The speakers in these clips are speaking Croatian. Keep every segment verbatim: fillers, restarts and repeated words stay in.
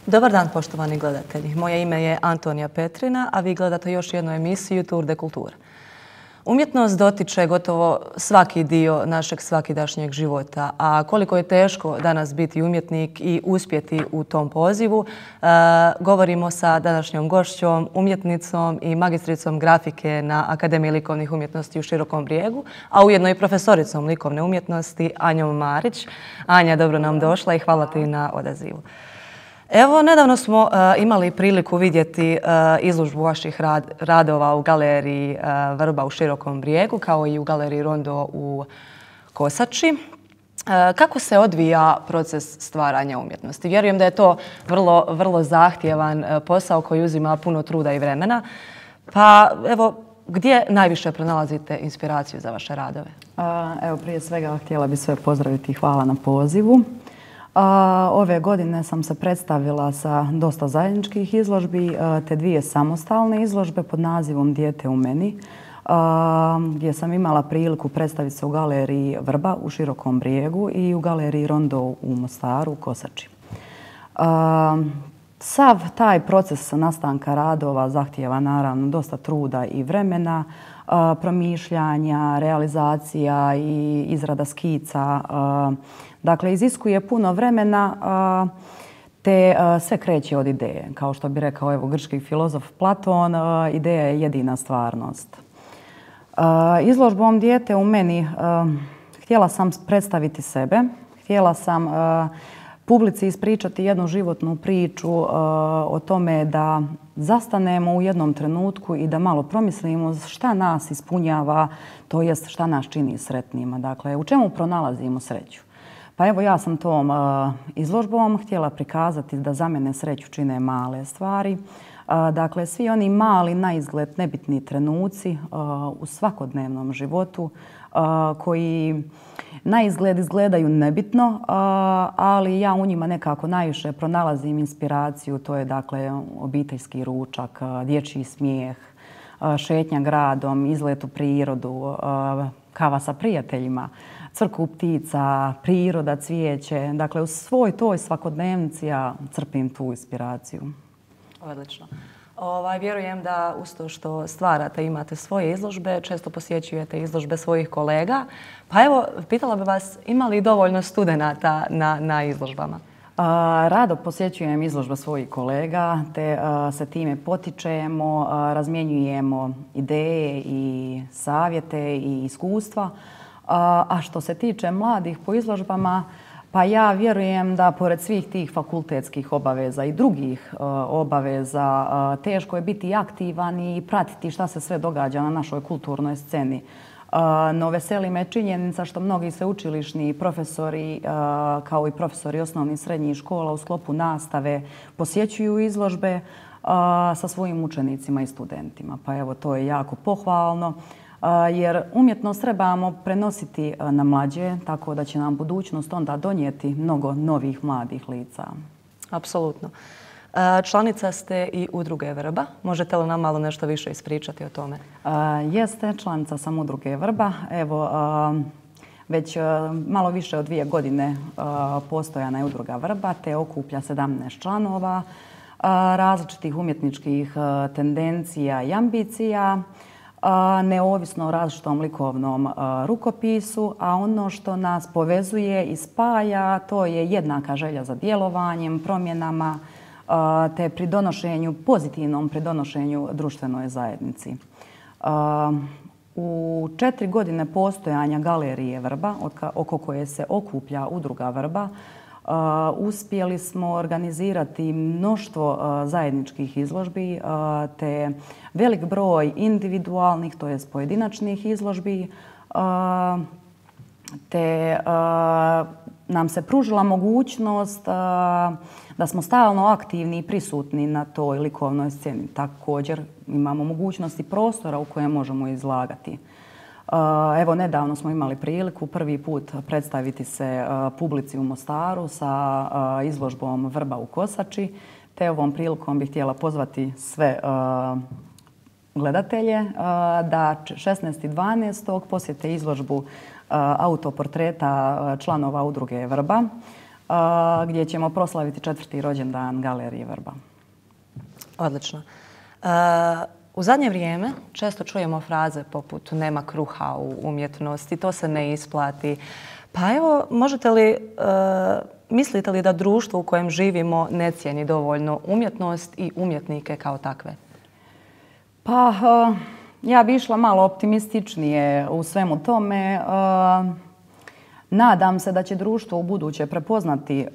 Dobar dan, poštovani gledatelji. Moje ime je Antonija Petrina, a vi gledate još jednu emisiju Tour de Kulture. Umjetnost dotiče gotovo svaki dio našeg svakidašnjeg života, a koliko je teško danas biti umjetnik i uspjeti u tom pozivu, e, govorimo sa današnjom gošćom, umjetnicom i magistricom grafike na Akademiji likovnih umjetnosti u Širokom Brijegu, a ujedno i profesoricom likovne umjetnosti Anjom Marić. Anja, dobro nam došla i hvala ti na odazivu. Evo, nedavno smo uh, imali priliku vidjeti uh, izložbu vaših rad, radova u galeriji uh, Vrba u Širokom Brijegu, kao i u galeriji Rondo u Kosači. Uh, kako se odvija proces stvaranja umjetnosti? Vjerujem da je to vrlo, vrlo zahtjevan uh, posao koji uzima puno truda i vremena. Pa evo, gdje najviše pronalazite inspiraciju za vaše radove? Uh, evo, prije svega htjela bih sve pozdraviti i hvala na pozivu. Ove godine sam se predstavila sa dosta zajedničkih izložbi, te dvije samostalne izložbe pod nazivom Dijete u meni, gdje sam imala priliku predstaviti se u galeriji Vrba u Širokom Brijegu i u galeriji Rondo u Mostaru u Kosači. Sav taj proces nastanka radova zahtijeva naravno dosta truda i vremena, promišljanja, realizacija i izrada skica. Dakle, iziskuje puno vremena, te sve kreće od ideje. Kao što bi rekao evo, grčki filozof Platon, ideja je jedina stvarnost. Izložbom Dijete u meni htjela sam predstaviti sebe, htjela sam publici ispričati jednu životnu priču o tome da zastanemo u jednom trenutku i da malo promislimo šta nas ispunjava, to jest šta nas čini sretnima. Dakle, u čemu pronalazimo sreću? Pa evo, ja sam tom uh, izložbom htjela prikazati da za mene sreću čine male stvari. Uh, dakle, svi oni mali, na izgled nebitni trenuci uh, u svakodnevnom životu uh, koji na izgled izgledaju nebitno, uh, ali ja u njima nekako najviše pronalazim inspiraciju. To je dakle obiteljski ručak, uh, dječji smijeh, uh, šetnja gradom, izlet u prirodu, uh, kava sa prijateljima, crku ptica, priroda, cvijeće. Dakle, u svoj toj svakodnevnici ja crpim tu inspiraciju. Odlično. Ovaj, vjerujem da uz to što stvarate, imate svoje izložbe, često posjećujete izložbe svojih kolega. Pa evo, pitala bih vas, ima li dovoljno studenata na, na izložbama? A, rado posjećujem izložbe svojih kolega, te a, se time potičemo, a, razmjenjujemo ideje i savjete i iskustva. A što se tiče mladih po izložbama, pa ja vjerujem da pored svih tih fakultetskih obaveza i drugih obaveza teško je biti aktivan i pratiti šta se sve događa na našoj kulturnoj sceni. No, veseli me činjenica što mnogi sveučilišni profesori, kao i profesori osnovnih i srednjih škola u sklopu nastave posjećuju izložbe sa svojim učenicima i studentima. Pa evo, to je jako pohvalno. Jer umjetnost trebamo prenositi na mlađe, tako da će nam budućnost onda donijeti mnogo novih mladih lica. Apsolutno. Članica ste i udruge Vrba. Možete li nam malo nešto više ispričati o tome? Jeste, članica sam udruge Vrba. Evo, već malo više od dvije godine postojana je udruga Vrba, te okuplja sedamnaest članova različitih umjetničkih tendencija i ambicija, neovisno o različitom likovnom rukopisu, a ono što nas povezuje i spaja, to je jednaka želja za djelovanjem, promjenama, te pridonošenju, pozitivnom pridonošenju društvenoj zajednici. U četiri godine postojanja galerije Vrba, oko koje se okuplja udruga Vrba, Uh, uspjeli smo organizirati mnoštvo uh, zajedničkih izložbi, uh, te velik broj individualnih, to jest pojedinačnih izložbi, uh, te uh, nam se pružila mogućnost uh, da smo stalno aktivni i prisutni na toj likovnoj sceni. Također imamo mogućnosti prostora u kojem možemo izlagati. Evo, nedavno smo imali priliku prvi put predstaviti se publici u Mostaru sa izložbom Vrba u Kosači, te ovom prilikom bih htjela pozvati sve gledatelje da šesnaestog dvanaestog posjete izložbu autoportreta članova udruge Vrba. gdje ćemo proslaviti četvrti rođendan Galerije Vrba. Odlično. U zadnje vrijeme često čujemo fraze poput nema kruha u umjetnosti, to se ne isplati. Pa evo, možete li, mislite li da društvo u kojem živimo ne cijeni dovoljno umjetnost i umjetnike kao takve? Pa, ja bi išla malo optimističnije u svemu tome. Nadam se da će društvo u buduće prepoznati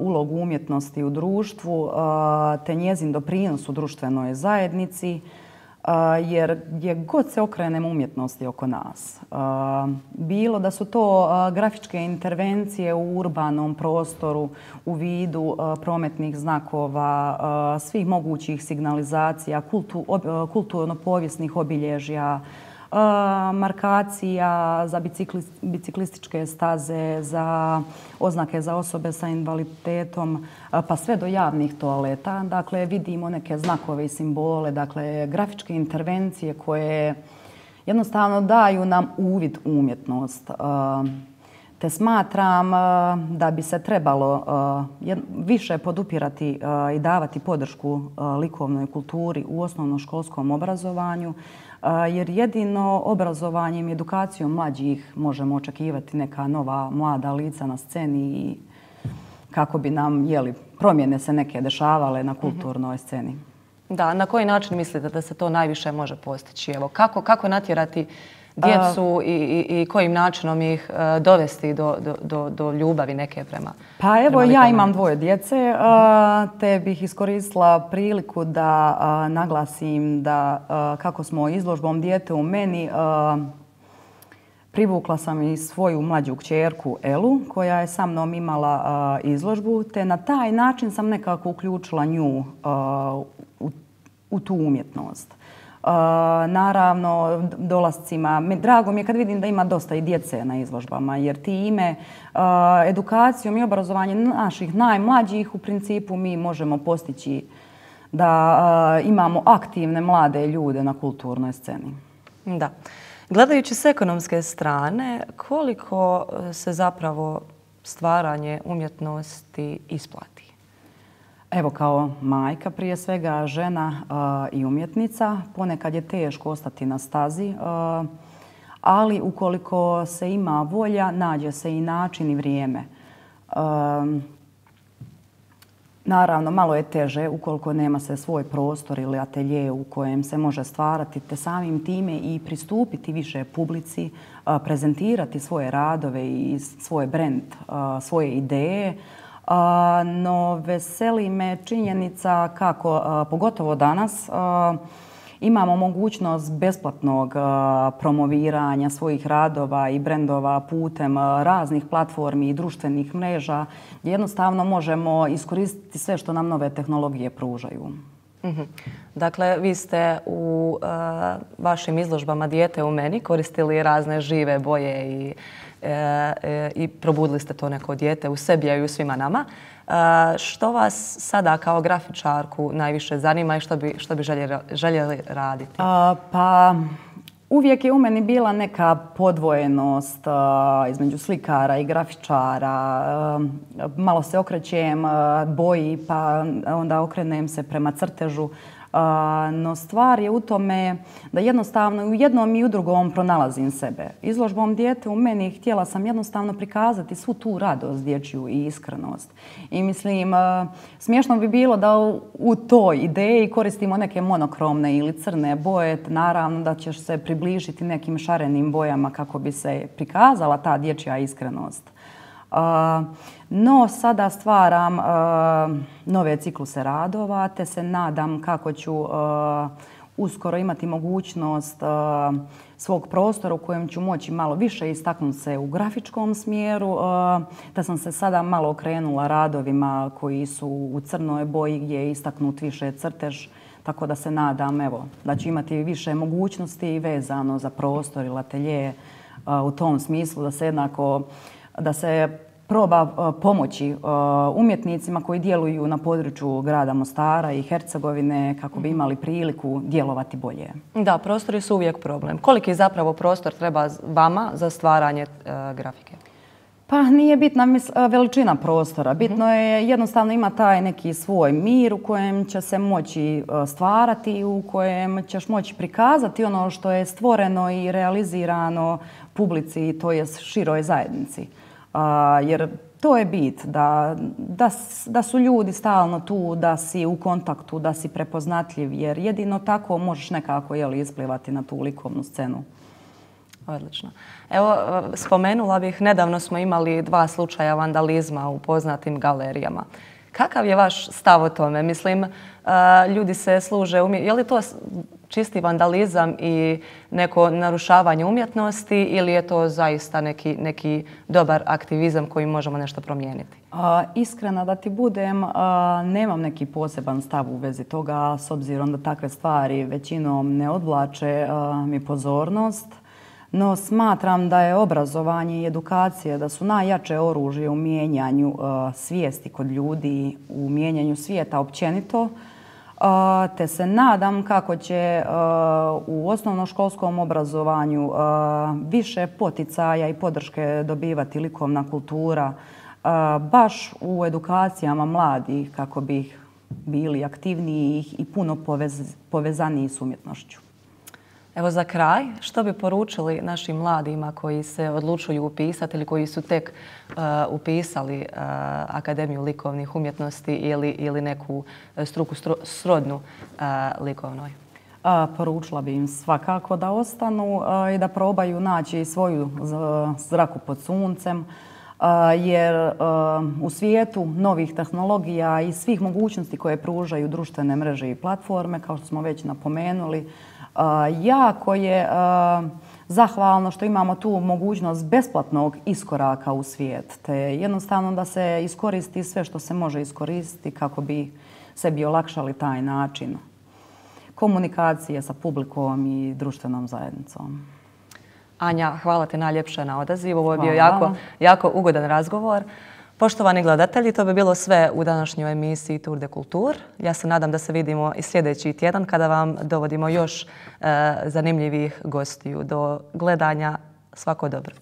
ulogu umjetnosti u društvu te njezin doprinos u društvenoj zajednici, jer gdje god se okrenemo umjetnosti oko nas, bilo da su to grafičke intervencije u urbanom prostoru u vidu prometnih znakova, svih mogućih signalizacija, kulturno-povijesnih obilježja, markacija za biciklističke staze, za oznake za osobe sa invaliditetom, pa sve do javnih toaleta. Dakle, vidimo neke znakove i simbole, dakle, grafičke intervencije koje jednostavno daju nam uvid u umjetnost. Te smatram da bi se trebalo više podupirati i davati podršku likovnoj kulturi u osnovnoškolskom obrazovanju, jer jedino obrazovanjem i edukacijom mlađih možemo očekivati neka nova mlada lica na sceni i kako bi nam jeli, promjene se neke dešavale na kulturnoj sceni. Da, na koji način mislite da se to najviše može postići? Evo, kako, kako natjerati djecu i, i, i kojim načinom ih uh, dovesti do, do, do ljubavi neke prema? Pa evo, prema ja imam dvoje djece, uh, te bih iskoristila priliku da uh, naglasim da uh, kako smo izložbom Dijete u meni uh, privukla sam i svoju mlađu kćerku Elu koja je sa mnom imala uh, izložbu, te na taj način sam nekako uključila nju uh, u, u tu umjetnost. Uh, naravno, dolascima. Drago mi je kad vidim da ima dosta i djece na izložbama, jer time uh, edukacijom i obrazovanjem naših najmlađih u principu mi možemo postići da uh, imamo aktivne mlade ljude na kulturnoj sceni. Da. Gledajući s ekonomske strane, koliko se zapravo stvaranje umjetnosti isplati? Evo, kao majka, prije svega žena uh, i umjetnica, ponekad je teško ostati na stazi, uh, ali ukoliko se ima volja, nađe se i način i vrijeme. Uh, naravno, malo je teže ukoliko nema se svoj prostor ili atelje u kojem se može stvarati, te samim time i pristupiti više publici, uh, prezentirati svoje radove i svoj brend, uh, svoje ideje. Uh, no veseli me činjenica kako, uh, pogotovo danas, uh, imamo mogućnost besplatnog uh, promoviranja svojih radova i brendova putem uh, raznih platformi i društvenih mreža, gdje jednostavno možemo iskoristiti sve što nam nove tehnologije pružaju. Mm-hmm. Dakle, vi ste u uh, vašim izložbama Dijete u meni koristili razne žive boje i i probudili ste to neko dijete u sebi, a i u svima nama. Što vas sada kao grafičarku najviše zanima i što bi, što bi željeli, željeli raditi? A, pa uvijek je u meni bila neka podvojenost a, između slikara i grafičara. A, malo se okrećem a, boji, pa onda okrenem se prema crtežu. Uh, no stvar je u tome da jednostavno u jednom i u drugom pronalazim sebe. Izložbom Dijete u meni htjela sam jednostavno prikazati svu tu radost dječju i iskrenost. I mislim, uh, smiješno bi bilo da u, u toj ideji koristimo neke monokromne ili crne boje. Naravno da ćeš se približiti nekim šarenim bojama kako bi se prikazala ta dječja iskrenost. Uh, no, sada stvaram uh, nove cikluse radova, te se nadam kako ću uh, uskoro imati mogućnost uh, svog prostora u kojem ću moći malo više istaknuti se u grafičkom smjeru, uh, te sam se sada malo okrenula radovima koji su u crnoj boji gdje je istaknut više crtež, tako da se nadam evo, da ću imati više mogućnosti vezano za prostor ili atelje uh, u tom smislu da se jednako da se proba uh, pomoći uh, umjetnicima koji djeluju na području grada Mostara i Hercegovine kako bi imali priliku djelovati bolje. Da, prostori su uvijek problem. Koliki zapravo prostor treba vama za stvaranje uh, grafike? Pa nije bitna veličina prostora. Bitno je jednostavno ima taj neki svoj mir u kojem će se moći stvarati, u kojem ćeš moći prikazati ono što je stvoreno i realizirano publici, to je široj zajednici. Jer to je bit, da, da, da su ljudi stalno tu, da si u kontaktu, da si prepoznatljiv, jer jedino tako možeš nekako jeli, isplivati na tu likovnu scenu. Odlično. Evo, spomenula bih, nedavno smo imali dva slučaja vandalizma u poznatim galerijama. Kakav je vaš stav o tome? Mislim, ljudi se služe, je li to čisti vandalizam i neko narušavanje umjetnosti ili je to zaista neki, neki dobar aktivizam koji možemo nešto promijeniti? A, iskrena da ti budem, a, nemam neki poseban stav u vezi toga, s obzirom da takve stvari većinom ne odvlače a, mi pozornost. No smatram da je obrazovanje i edukacija da su najjače oružje u mijenjanju uh, svijesti kod ljudi, u mijenjanju svijeta općenito. Uh, te se nadam kako će uh, u osnovnoškolskom obrazovanju uh, više poticaja i podrške dobivati likovna kultura, uh, baš u edukacijama mladih kako bi bili aktivniji i puno povez, povezaniji s umjetnošću. Evo za kraj, što bi poručili našim mladima koji se odlučuju upisati ili koji su tek uh, upisali uh, Akademiju likovnih umjetnosti ili, ili neku struku stru, srodnu uh, likovnoj? A, poručila bi im svakako da ostanu a, i da probaju naći svoju zraku pod suncem, a, jer a, u svijetu novih tehnologija i svih mogućnosti koje pružaju društvene mreže i platforme, kao što smo već napomenuli, Uh, jako je uh, zahvalno što imamo tu mogućnost besplatnog iskoraka u svijet. Te jednostavno da se iskoristi sve što se može iskoristiti kako bi sebi olakšali taj način komunikacije sa publikom i društvenom zajednicom. Anja, hvala ti najljepše na odazivu. Ovo je bio jako, jako ugodan razgovor. Poštovani gledatelji, to bi bilo sve u današnjoj emisiji Tour de Culture. Ja se nadam da se vidimo i sljedeći tjedan kada vam dovodimo još e, zanimljivih gostiju. Do gledanja, svako dobro.